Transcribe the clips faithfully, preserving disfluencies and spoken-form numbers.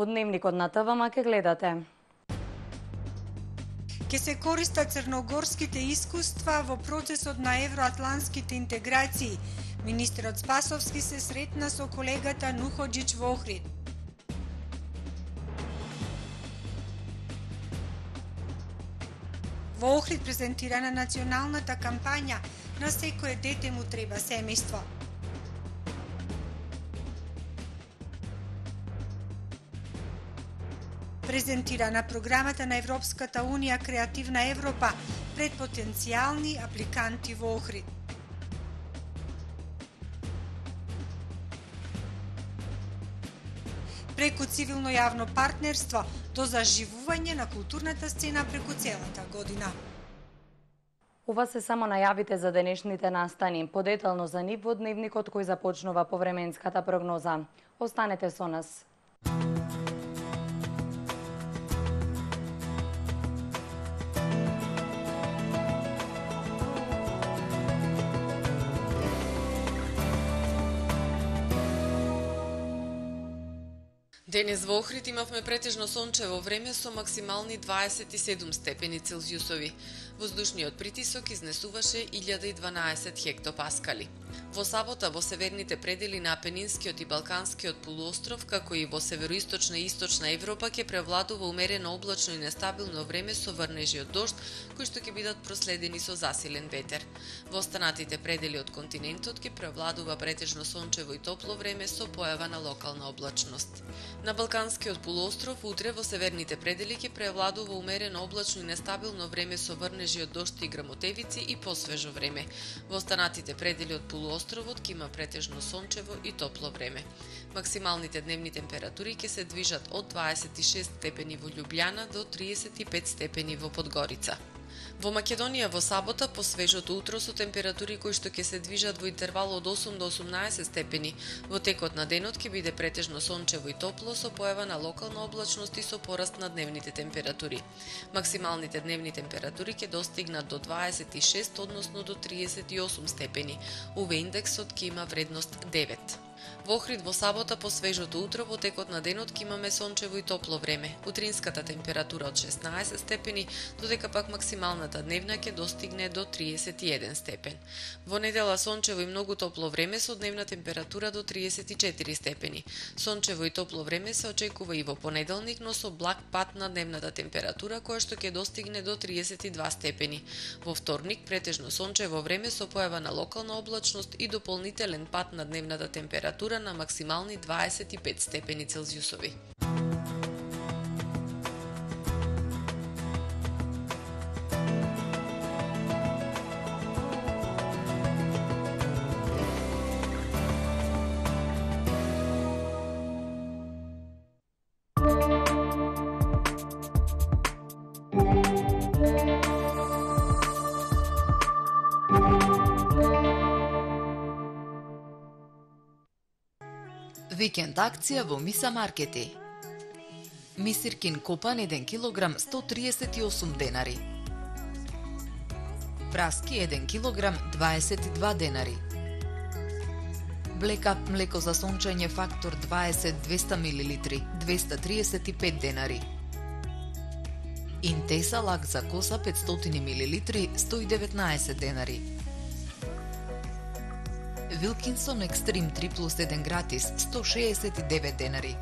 Дневникот на ТВ ке гледате. Ке се користат црногорските искуства во процесот на евроатлантските интеграции. Министерот Спасовски се сретна со колегата Нуходжич во Охрид. Во Охрид презентирана националната кампања "На секое дете му треба семејство". Презентирана програмата на Европската Унија Креативна Европа пред потенцијални апликанти во Охрид. Преку цивилно јавно партнерство до заживување на културната сцена преку целата година. Ова се само најавите за денешните настани. Подетално за нив во дневникот кој започнува по временската прогноза. Останете со нас. Денес во Охрид имавме претежно сончево време со максимални дваесет и седум степени Целзиусови. Воздушниот притисок изнесуваше илјада и дванаесет хектопаскали. Во сабота во северните предели на Апенинскиот и Балканскиот полуостров, како и во североисточна и источна Европа, ќе превладува умерено облачно и нестабилно време со врнежи од дожд, кои што ќе бидат проследени со засилен ветер. Во останатите предели од континентот ќе превладува претежно сончево и топло време со појава на локална облачност. На Балканскиот полуостров утре во северните предели ќе превладува умерено облачно и нестабилно време со врнежи од дожд и грмотевици и посвежо време. Во останатите предели од полуостровот ќе има претежно сончево и топло време. Максималните дневни температури ќе се движат од дваесет и шест степени во Љубљана до триесет и пет степени во Подгорица. Во Македонија во сабота по свежото утро со температури кои што ќе се движат во интервал од осум до осумнаесет степени. Во текот на денот ќе биде претежно сончево и топло со појава на локална облачност и со пораст на дневните температури. Максималните дневни температури ќе достигнат до дваесет и шест, односно до триесет и осум степени. У ве индексот ќе има вредност девет. Во Охрид во сабота по свежото утро во текот на денот ќе имаме сончево и топло време. Утринската температура од шеснаесет степени, додека пак максималната дневна ќе достигне до триесет и еден степен. Во недела сончево и многу топло време со дневна температура до триесет и четири степени. Сончево и топло време се очекува и во понеделник, но со благ пад на дневната температура која што ќе достигне до триесет и два степени. Во вторник претежно сончево време со појава на локална облачност и дополнителен пад на дневната температура на максимални дваесет и пет степени Целзиусови. Викенд акција во Миса Маркети. Мисиркин копан еден килограм сто триесет и осум денари. Праски еден килограм дваесет и два денари. Блекап млеко за сончење фактор дваесет двеста милилитри двеста триесет и пет денари. Интеса лак за коса петстотини милилитри сто и деветнаесет денари. Вилкинсон Екстрим три плюс еден гратис сто шеесет и девет денари.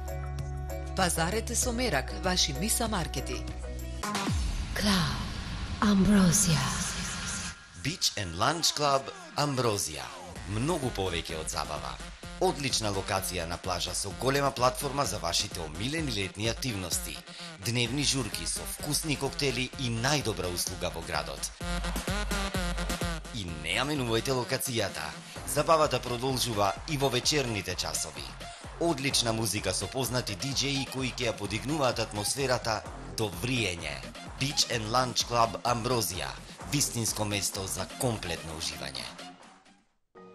Пазарете со мерак, ваши Миса Маркети. Club Ambrosia. Beach and Lunch Club Ambrosia. Многу повеќе од забава. Одлична локација на плажа со голема платформа за вашите омилени летни активности. Дневни журки со вкусни коктели и најдобра услуга во градот. И не ја менувајте локацијата. Забавата продолжува и во вечерните часови. Одлична музика со познати диџеи кои ќе ја подигнуваат атмосферата до вриење. Beach and Lunch Club Ambrosia. Вистинско место за комплетно уживање.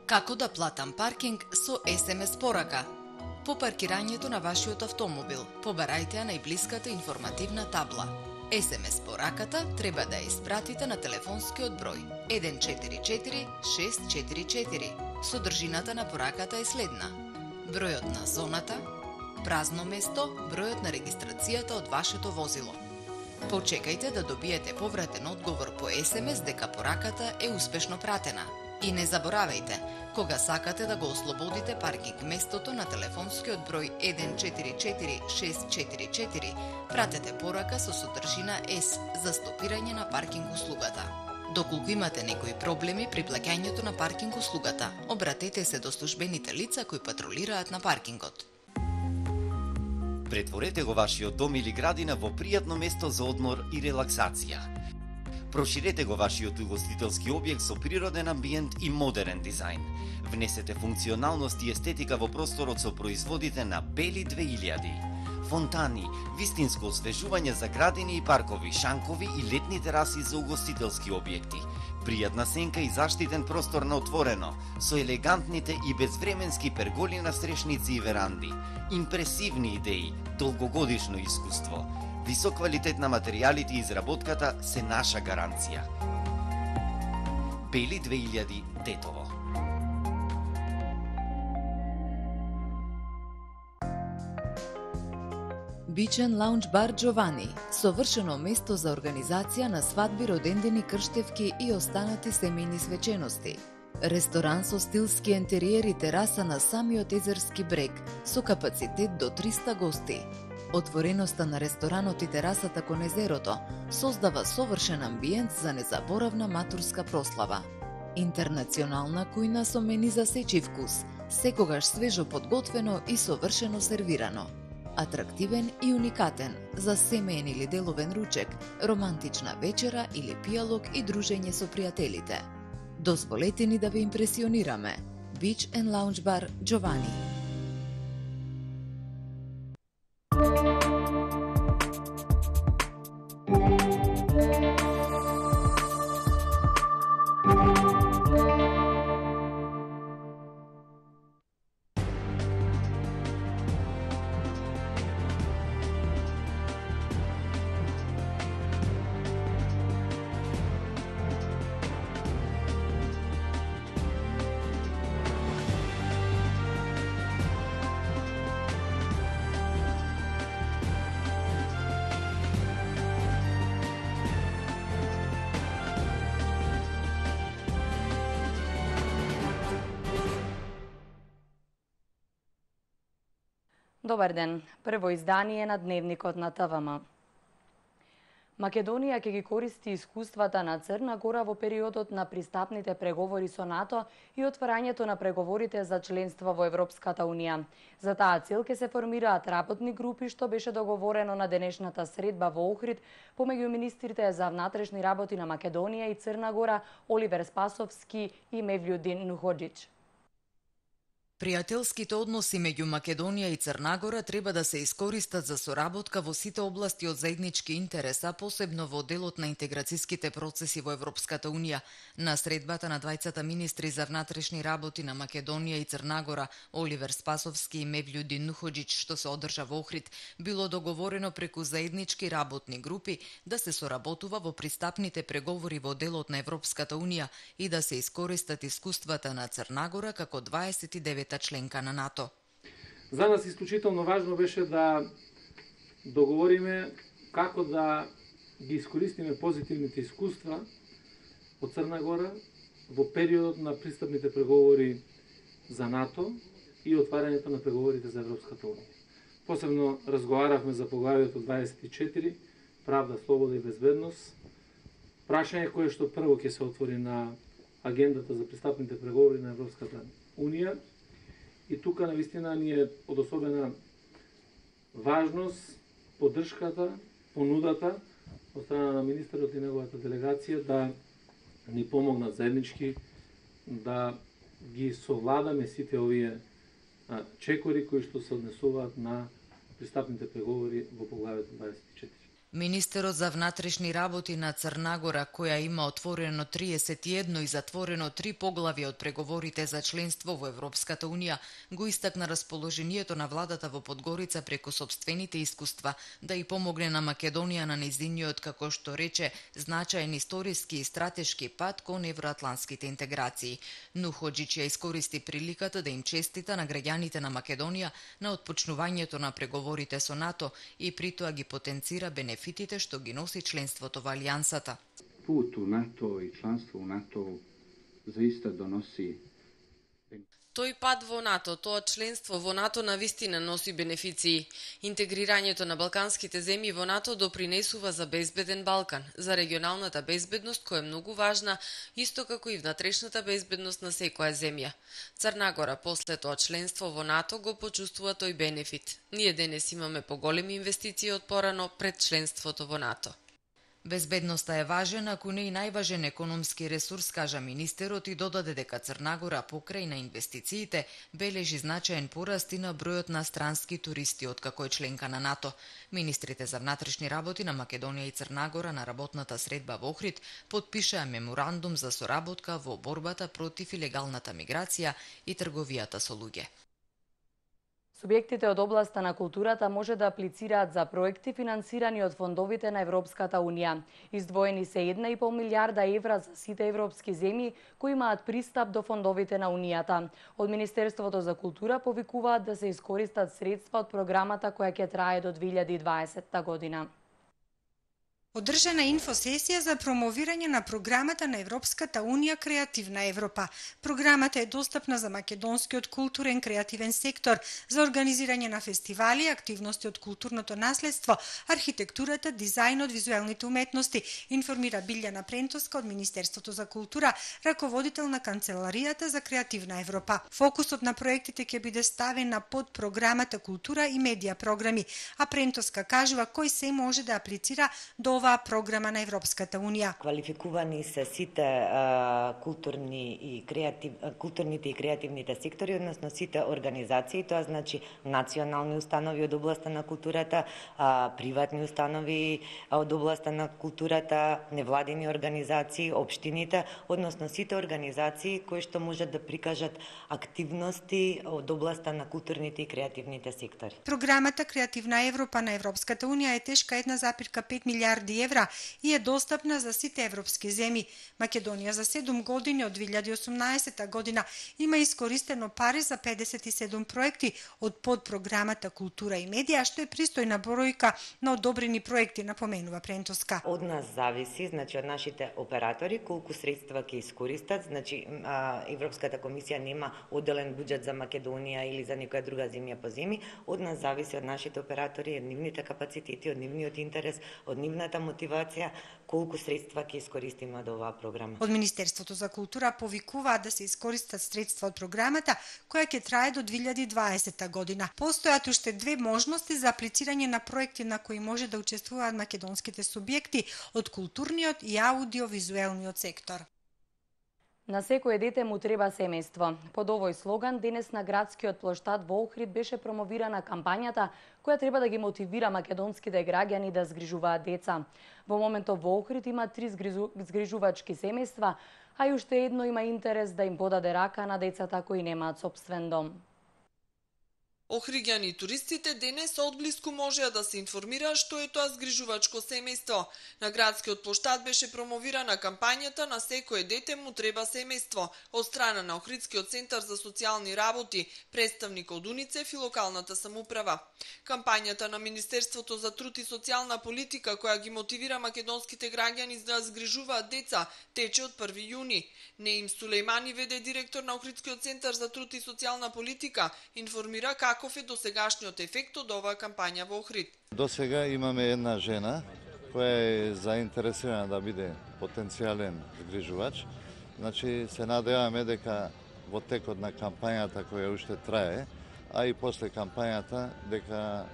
Како да платам паркинг со ес ем ес порака? По паркирањето на вашиот автомобил, побарајте ја најблиската информативна табла. ес ем ес пораката треба да ја испратите на телефонскиот број еден четири четири шест четири четири. Содржината на пораката е следна: бројот на зоната, празно место, бројот на регистрацијата од вашето возило. Почекајте да добиете повратен одговор по ес ем ес дека пораката е успешно пратена. И не заборавајте, кога сакате да го ослободите паркинг местото на телефонскиот број еден четири четири шест четири четири, пратете порака со содржина С за стопирање на паркинг услугата. Доколку имате некои проблеми при плаќањето на паркинг услугата, обратете се до службените лица кои патрулираат на паркингот. Претворете го вашиот дом или градина во пријатно место за одмор и релаксација. Проширете го вашиот угостителски објект со природен амбиент и модерен дизајн. Внесете функционалност и естетика во просторот со производите на Бели две илјади. Фонтани, вистинско освежување за градини и паркови, шанкови и летни тераси за угостителски објекти. Пријатна сенка и заштитен простор на отворено, со елегантните и безвременски перголи на стрешници и веранди. Импресивни идеи, долгогодишно искуство. Висок квалитет на материјалите и изработката се наша гаранција. Бели две илјади Тетово. Beach and Lounge Bar Giovanni, совршено место за организација на свадби, родендени, крштевки и останати семејни свечености. Ресторан со стилски ентериер и тераса на самиот езерски брег, со капацитет до триста гости. Отвореноста на ресторанот и терасата кон езерото создава совршен амбиент за незаборавна матурска прослава. Интернационална кујна со мени за сечи вкус, секогаш свежо подготвено и совршено сервирано. Атрактивен и уникатен за семеен или деловен ручек, романтична вечера или пијалок и дружење со пријателите. Дозволете ни да ве импресионираме. Beach and Lounge Bar Giovanni. Добар ден. Прво издание на Дневникот на Т В М. Македонија ќе ги користи искуствата на Црна Гора во периодот на пристапните преговори со НАТО и отварањето на преговорите за членство во Европската Унија. За таа цел ќе се формираат работни групи, што беше договорено на денешната средба во Охрид помеѓу министрите за внатрешни работи на Македонија и Црна Гора Оливер Спасовски и Мевљудин Нуходжич. Пријателските односи меѓу Македонија и Црна Гора треба да се искористат за соработка во сите области од заеднички интереса, посебно во делот на интеграцијските процеси во Европската Унија. На средбата на двајцата министри за внатрешни работи на Македонија и Црна Гора, Оливер Спасовски и Мевљудин Нуходжич, што се одржа во Охрид, било договорено преку заеднички работни групи да се соработува во пристапните преговори во делот на Европската Унија и да се искористат искуствата на Црна Гора како дваесет и девета членка на НАТО. За нас исклучително важно беше да договориме како да ги искористиме позитивните искуства од Црна Гора во периодот на пристапните преговори за НАТО и отварањето на преговорите за Европската Унија. Посебно разговаравме за поглавието дваесет и четири, правда, слобода и безбедност, прашање кое што прво ќе се отвори на агендата за пристапните преговори на Европската Унија. И тука навистина ни е од особена важност поддршката, понудата од страна на министерот и неговата делегација да ни помогнат заеднички да ги совладаме сите овие чекори кои што се однесуваат на пристапните преговори во поглавието дваесет и четири. Министерот за внатрешни работи на Црна Гора, која има отворено триесет и едно и затворено три поглавја од преговорите за членство во Европската Унија, го истакна расположението на владата во Подгорица преку сопствените искуства да и помогне на Македонија на нејзиниот, како што рече, значаен историски и стратешки пат кон евроатланските интеграции. Нух Хоџич ја искористи приликата да им честита на граѓаните на Македонија на отпочнувањето на преговорите со НАТО и притоа ги потенцира бенефитите што ги носи членството во Алијансата. Пут у НАТО и членство у НАТО заиста доноси. Тој пат во НАТО, тоа членство во НАТО навистина носи бенефиции. Интегрирањето на балканските земји во НАТО допринесува за безбеден Балкан, за регионалната безбедност која е многу важна, исто како и внатрешната безбедност на секоја земја. Црна Гора после тоа членство во НАТО го почувствува тој бенефит. Ние денес имаме поголеми инвестиции од порано пред членството во НАТО. Безбедноста е важен, ако не и најважен економски ресурс, кажа министерот и додаде дека Црна Гора покрај на инвестициите бележи значаен пораст и на бројот на странски туристи откако е членка на НАТО. Министрите за внатрешни работи на Македонија и Црна Гора на работната средба во Охрид потпишаа меморандум за соработка во борбата против илегалната миграција и трговијата со луѓе. Субјектите од областа на културата може да аплицираат за проекти финансирани од фондовите на Европската Унија. Издвоени се една и пол милијарда евра за сите европски земји кои имаат пристап до фондовите на Унијата. Од Министерството за култура повикуваат да се искористат средства од програмата која ќе трае до две илјади и дваесетта година. Одржана инфосесија за промовирање на програмата на Европската Унија Креативна Европа. Програмата е достапна за македонскиот културен креативен сектор, за организирање на фестивали, активности од културното наследство, архитектурата, дизајнот, визуелните уметности, информира Билјана Прентоска од Министерството за култура, раководител на Канцеларијата за Креативна Европа. Фокусот на проектите ќе биде ставен на подпрограмата култура и медија програми, а Прентоска кажува кој се може да аплицира до оваа програма на Европската Унија. Квалификувани се сите а, културни и креатив, културните и креативните сектори, односно сите организации, тоа значи национални установи од областа на културата, а, приватни установи од областа на културата, невладини организации, општините, односно сите организации кои што можат да прикажат активности од областа на културните и креативните сектори. Програмата Креативна Европа на Европската Унија е тешка една запирка пет милијарди евра и е достапна за сите европски земји. Македонија за седум години од две илјади и осумнаесетта година има искористено пари за педесет и седум проекти од подпрограмата Култура и медија, што е пристојна бројка на одобрени проекти, напоменува Прентоска. Од нас зависи, значи од нашите оператори, колку средства ќе искористат, значи Европската комисија нема одделен буџет за Македонија или за некоја друга земја по земји, од нас зависи од нашите оператори, од нивните капацитети, од нивниот интерес, од нивната мотивација, колку средства ќе искористиме од оваа програма. Од Министерството за култура повикуваат да се искористат средства од програмата, која ќе трае до две илјади и дваесетта година. Постојат уште две можности за аплицирање на проекти на кои може да учествуваат македонските субјекти од културниот и аудиовизуелниот сектор. На секое дете му треба семејство. Под овој слоган денес на градскиот плоштад во Охрид беше промовирана кампањата која треба да ги мотивира македонските граѓани да згрижуваат деца. Во моментов во Охрид има три згрижувачки семејства, а и уште едно има интерес да им подаде рака на децата кои немаат сопствен дом. Охриѓани и туристите денес одблиску можеа да се информираат што е тоа згрижувачко семејство. На градскиот плоштад беше промовирана кампањата На секое дете му треба семејство од страна на Охридскиот центар за социјални работи, представник од УНИЦЕФ и локалната самоуправа. Кампањата на Министерството за труд и социјална политика која ги мотивира македонските граѓани да згрижуваат деца тече од први јуни. Неим Сулејмани, веде директор на Охридскиот центар за труд и социјална политика, информира како каков е досегашниот ефект од оваа кампања во Охрид. До сега имаме една жена која е заинтересирана да биде потенцијален згрижувач. Значи се надеваме дека во текот на кампањата која уште трае, а и после кампањата дека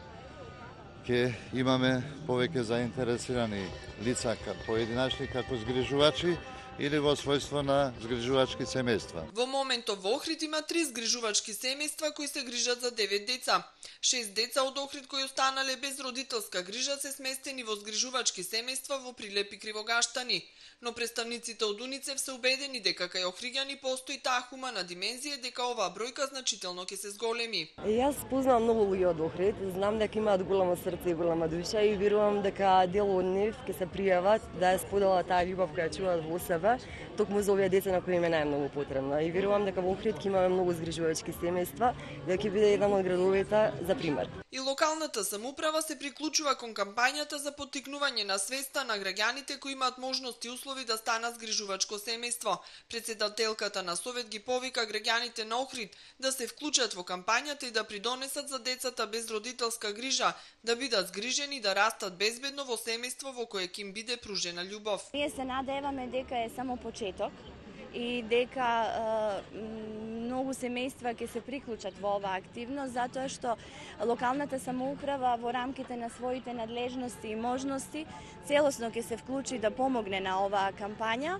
ќе имаме повеќе заинтересирани лица поединачни како згрижувачи, или во својство на згрижувачки семејства. Во моментов во Охрид има три згрижувачки семејства кои се грижат за девет деца. Шест деца од Охрид кои останале без родителска грижа се сместени во згрижувачки семејства во Прилеп и Кривогаштани. Но представниците од УНИЦЕФ се убедени дека кај охриѓани постои таа хумана димензија дека оваа бројка значително ќе се зголеми. Јас познавам многу луѓе од Охрид, знам дека имаат големо срце и голема душа и верувам дека дел од нив ќе се пријават да ја споделат таа љубов која чуваат во себе, токму за овие деца на кои им е најмногу потребна. И верувам дека во Охрид ќе имаме многу згрижувачки семејства, дека ќе биде еден од градовите за пример. И локалната самоуправа се приклучува кон кампањата за поттикнување на свеста на граѓаните кои имаат можности и услови да станат згрижувачко семејство. Председателката на Совет ги повика граѓаните на Охрид да се вклучат во кампањата и да придонесат за децата без родителска грижа, да бидат згрижени и да растат безбедно во семејство во кое ќе им биде пружена љубов. Ние се надеваме дека е само почеток и дека е, многу семејства ќе се приклучат во оваа активност, затоа што локалната самоуправа во рамките на своите надлежности и можности целосно ќе се вклучи да помогне на оваа кампања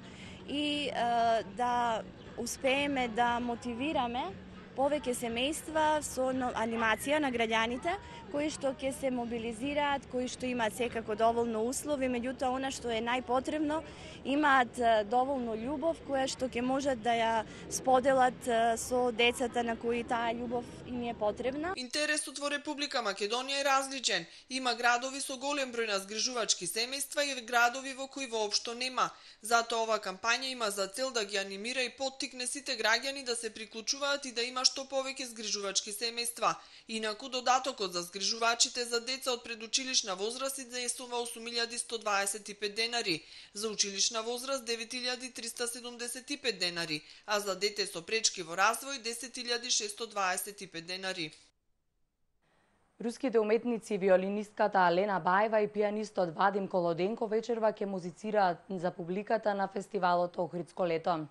и е, да успееме да мотивираме повеќе семејства со анимација на граѓаните кои што ќе се мобилизираат, кои што имаат секако доволно услови, меѓутоа она што е најпотребно, имаат доволно љубов која што ќе можат да ја споделат со децата на кои таа љубов им е потребна. Интересот во Република Македонија е различен. Има градови со голем број на згрижувачки семејства и градови во кои воопшто нема. Затоа ова кампања има за цел да ги анимира и поттикне сите граѓани да се приклучуваат и да има што повеќе згрижувачки семејства. Инаку додатокот за згрижувачите за деца од предучилишна возраст изнесува осум илјади сто дваесет и пет денари, за училишна возраст девет илјади триста седумдесет и пет денари, а за дете со пречки во развој десет илјади шестоста дваесет и пет денари. Руските уметници, виолинистката Алена Баева и пианистот Вадим Колоденко вечерва ќе музицираат за публиката на фестивалот Охридско лето.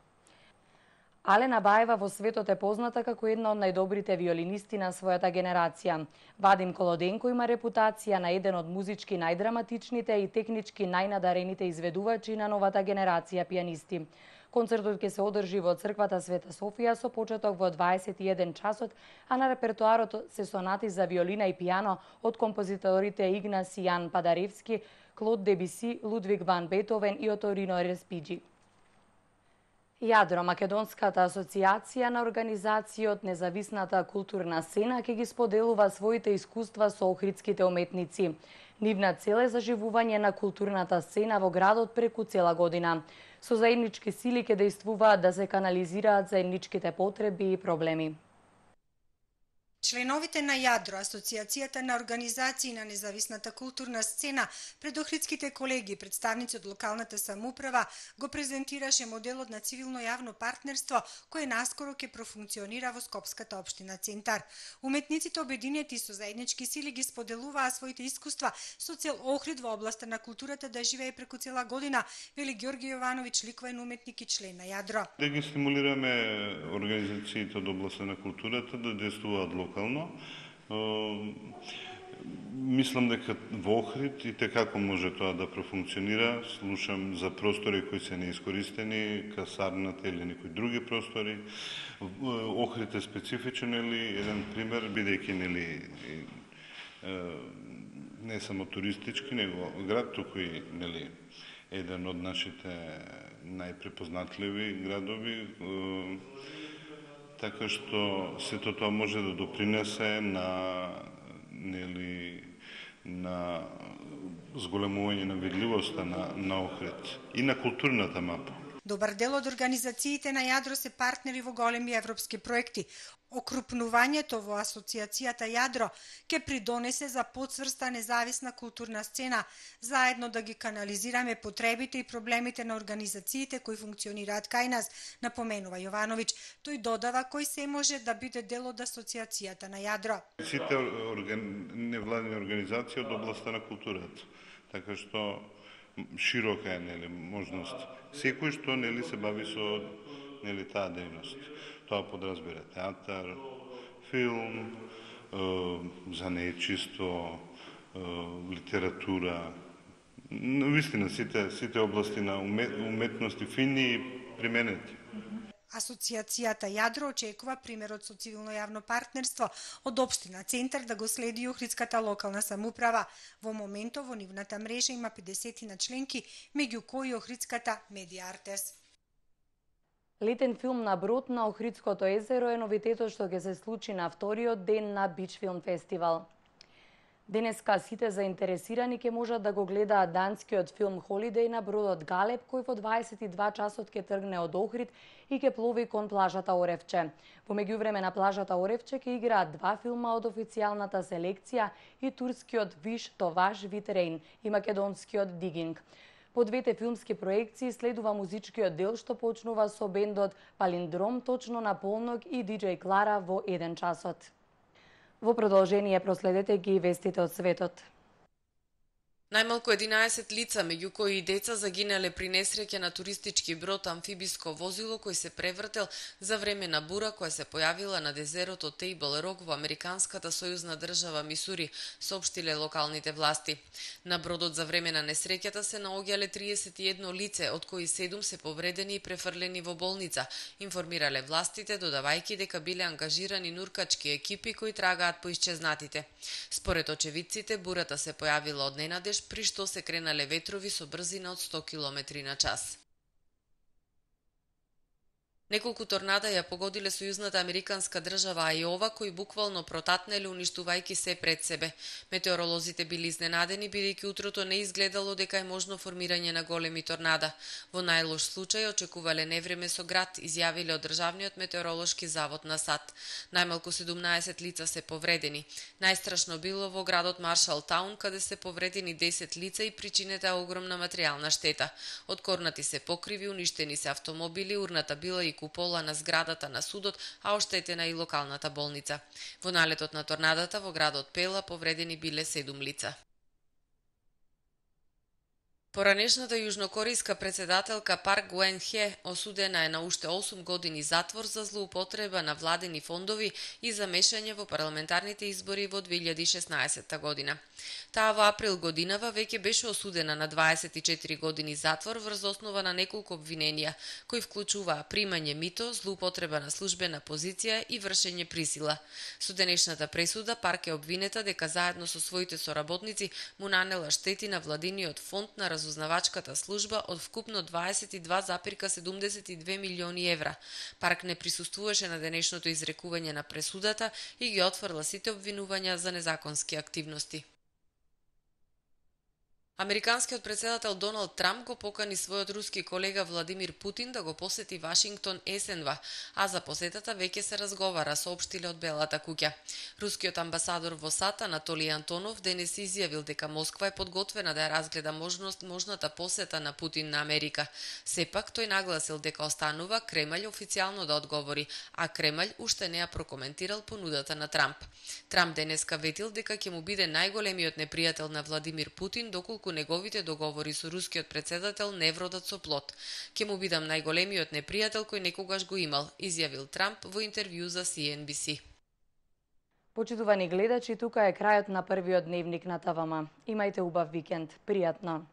Алена Баева во светот е позната како една од најдобрите виолинисти на својата генерација. Вадим Колоденко има репутација на еден од музички најдраматичните и технички најнадарените изведувачи на новата генерација пианисти. Концертот ќе се одржи во црквата Света Софија со почеток во дваесет и еден часот, а на репертоарот се сонати за виолина и пијано од композиторите Игнаси Јан Падаревски, Клод Дебиси, Лудвиг ван Бетовен и Оторино Респиџи. Јадро, Македонската асоциација на организации од независната културна сцена, ќе ги споделува своите искуства со охридските уметници. Нивна цел е заживување на културната сцена во градот преку цела година. Со заеднички сили ќе действуваат да се канализираат заедничките потреби и проблеми. Членовите на Јадро, Асоциацијата на организации на независната културна сцена, пред охридските колеги и представници од локалната самоуправа го презентираше моделот на цивилно јавно партнерство кој наскоро ќе профункционира во Скопската општина Центар. Уметниците обединети со заеднички сили ги споделуваа своите искуства со цел Охрид во областа на културата да живее преку цела година, вели Ѓорги Јовановиќ, ликовен уметник и член на Јадро. Да ги стимулираме организациите од областа на културата да действуваат локално. Мислам дека во Охрид и како може тоа да профункционира. Слушам за простори кои се неискористени, касарната или некои други простори. Охрид е специфичен, или еден пример, бидејќи нели не само туристички, него град, туку и нели еден од нашите најпрепознатливи градови. Така што сето тоа може да допринесе на нели на зголемување на видливоста на, на Охрид и на културната мапа. Добар дел од организациите на Јадро се партнери во големи европски проекти. Окрупнувањето во асоциацијата Јадро ќе придонесе за потврста независна културна сцена, заедно да ги канализираме потребите и проблемите на организациите кои функционираат кај нас, напоменува Јовановиќ. Тој додава кој се може да биде дел од асоциацијата на Јадро. Сите орган... невладени организации од областта на културата, така што широка е нели можност. Секој што нели се бави со нели таа дејност. Тоа подразбира театар, филм, е, занечиство, е, литература, Вистина, сите, сите области на уметности фини и применети. Асоциацијата Јадро очекува примерот со цивилно јавно партнерство од Општина Центар да го следи и Охридската локална самоуправа. Во моментов во нивната мрежа има педесет на членки, меѓу кои Охридската Медија Артес. Летен филм на брод на Охридското езеро е новитетот што ќе се случи на вториот ден на Бич филм фестивал. Денеска сите заинтересирани ќе можат да го гледаат данскиот филм Холидеј на бродот Галеб, кој во дваесет и два часот ќе тргне од Охрид и ќе плови кон плажата Оревче. Во меѓувреме на плажата Оревче ќе играат два филма од официјалната селекција и турскиот Виш Товаш Витерейн и македонскиот Дигинг. По двете филмски проекции следува музичкиот дел што почнува со бендот Палиндром точно на полнок и диџеј Клара во еден часот. Во продолжение проследете ги вестите од светот. Најмалку единаесет лица, меѓу кои и деца, загинале при несреќа на туристички брод амфибиско возило кој се превртел за време на бура која се појавила на дезерото Тейбл Рок во американската сојузна држава Мисури, соопштиле локалните власти. На бродот за време на несреќата се наоѓале триесет и едно лице, од кои седум се повредени и префрлени во болница, информирале властите, додавајќи дека биле ангажирани нуркачки екипи кои трагаат по исчезнатите. Според очевидците, бурата се појавила од ненадеж, при што се кренале ветрови со брзина од сто километри на час. Неколку торнада ја погодиле сојузната американска држава Ајова, кои буквално протатнеле уништувајќи се пред себе. Метеоролозите били изненадени, бидејќи утрото не изгледало дека е можно формирање на големи торнада. Во најлош случај очекувале невреме со град, изјавиле од Државниот метеоролошки завод на САД. Најмалку седумнаесет лица се повредени. Најстрашно било во градот Маршалтаун, каде се повредени десет лица и причинета огромна материјална штета. Откорнати се покриви, уништени се автомобили, урната била и купола на зградата на судот, а оштетена и локалната болница. Во налетот на торнадата во градот Пела повредени биле седум лица. Поранешната јужнокорејска председателка Парк Гуен-хе осудена е на уште осум години затвор за злоупотреба на владени фондови и за мешање во парламентарните избори во две илјади и шеснаесетта година. Таа во април годинава веќе беше осудена на дваесет и четири години затвор врз основа на неколку обвиненија, кои вклучуваа примање мито, злоупотреба на службена позиција и вршење присила. Со денешната пресуда Парк е обвинета дека заедно со своите соработници му нанела штети на владиниот фонд на разузнавачката служба од вкупно дваесет и два запирка седумдесет и две милиони евра. Парк не присуствуваше на денешното изрекување на пресудата и ги отфрла сите обвинувања за незаконски активности. Американскиот председател Доналд Трамп го покани својот руски колега Владимир Путин да го посети Вашингтон есенва, а за посетата веќе се разговара, соопштиле од Белата куќа. Рускиот амбасадор во САД Анатолиј Антонов денес изјавил дека Москва е подготвена да ја разгледа можност можната посета на Путин на Америка. Сепак тој нагласил дека останува Кремљ официјално да одговори, а Кремљ уште не ја прокоментирал понудата на Трамп. Трамп денеска ветил дека ќе му биде најголемиот непријател на Владимир Путин доколку неговите договори со рускиот председател не вродат со плод. Ке му бидам најголемиот непријател кој некогаш го имал, изјавил Трамп во интервју за Си Ен Би Си. Почитувани гледачи, тука е крајот на првиот дневник на ТВМ. Имајте убав викенд. Пријатно!